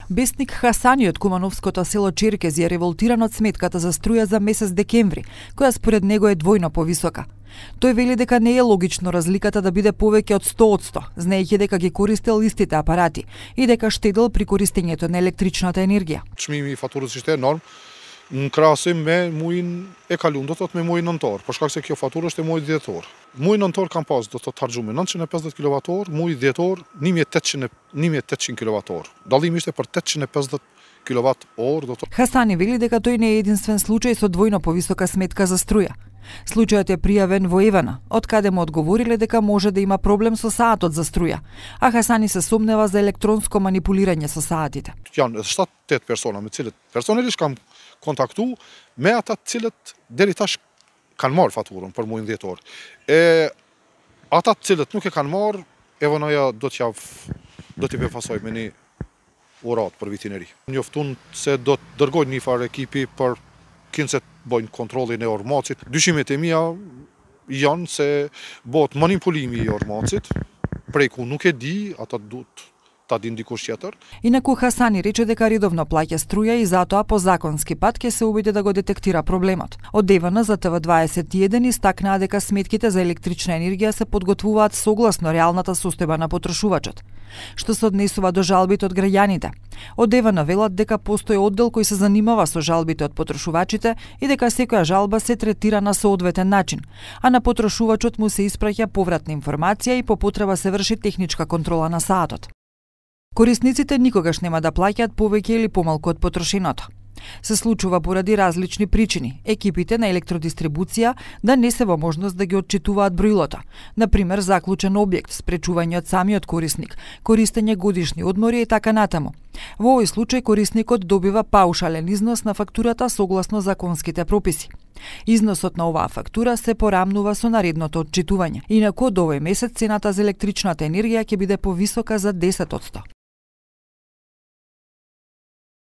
Бесник Хасани од кумановското село Черкези е револтиран од сметката за струја за месец декември, која според него е двојно повисока. Тој вели дека не е логично разликата да биде повеќе од 100%, знаејќи дека ги користел истите апарати и дека штедел при користењето на електричната енергија. Çmimi I faturës ishte enorm në krahasim me muajin e kaluar, do thotë me muajin nëntor, për shkak se kjo faturë është e muajit dhjetor. Muaji nëntor kam pas, do thotë harxhume 950 kWh, muaji dhjetor 1800 kWh. Dallimi ishte për 850 kWh, do thotë. Хасани вели дека тој не е единствен случај со двојно повисока сметка за струја. Случајот е пријавен во Евана, од каде му одговориле дека може да има проблем со саатот за струја, а Хасани се сомнева за електронско манипулирање со саатите. Janë 7-8 persona me cilët personalisht kam kontaktu me ata të cilët deri tash kanë marrë faturën për muajin dhjetor. Ata të cilët nuk e kanë marrë, Evanaja do t'i befasoj me një urat për vitin e ri. Njoftun se do të dërgojnë një farë ekipi për kinse të bojnë kontrollin e ormacit. Dyshimet e mia janë se bëhet manipulimi I ormacit, prej ku nuk e di, ata duhet ta di dikush tjetër. Инаку Хасани рече дека редовно плаќа струја и затоа по законски пат ќе се обиде да го детектира проблемот. Од Евана за ТВ21 истакнаа дека сметките за електрична енергија се подготвуваат согласно реалната состојба на потрошувачот. Што се однесува до жалбите од граѓаните, од Евана велат дека постои оддел кој се занимава со жалбите од потрошувачите и дека секоја жалба се третира на соодветен начин, а на потрошувачот му се испраќа повратна информација и по потреба се врши техничка контрола на саатот. Корисниците никогаш нема да плаќаат повеќе или помалку од потрошеното. Се случува поради различни причини. Екипите на електродистрибуција да не се во можност да ги отчитуваат броилото. Например, заклучен објект, спречување од самиот корисник, користење годишни одмори и така натаму. Во овој случај корисникот добива паушален износ на фактурата согласно законските прописи. Износот на оваа фактура се порамнува со наредното отчитување. Инаку од овој месец цената за електричната енергија ќе биде повисока за 10%.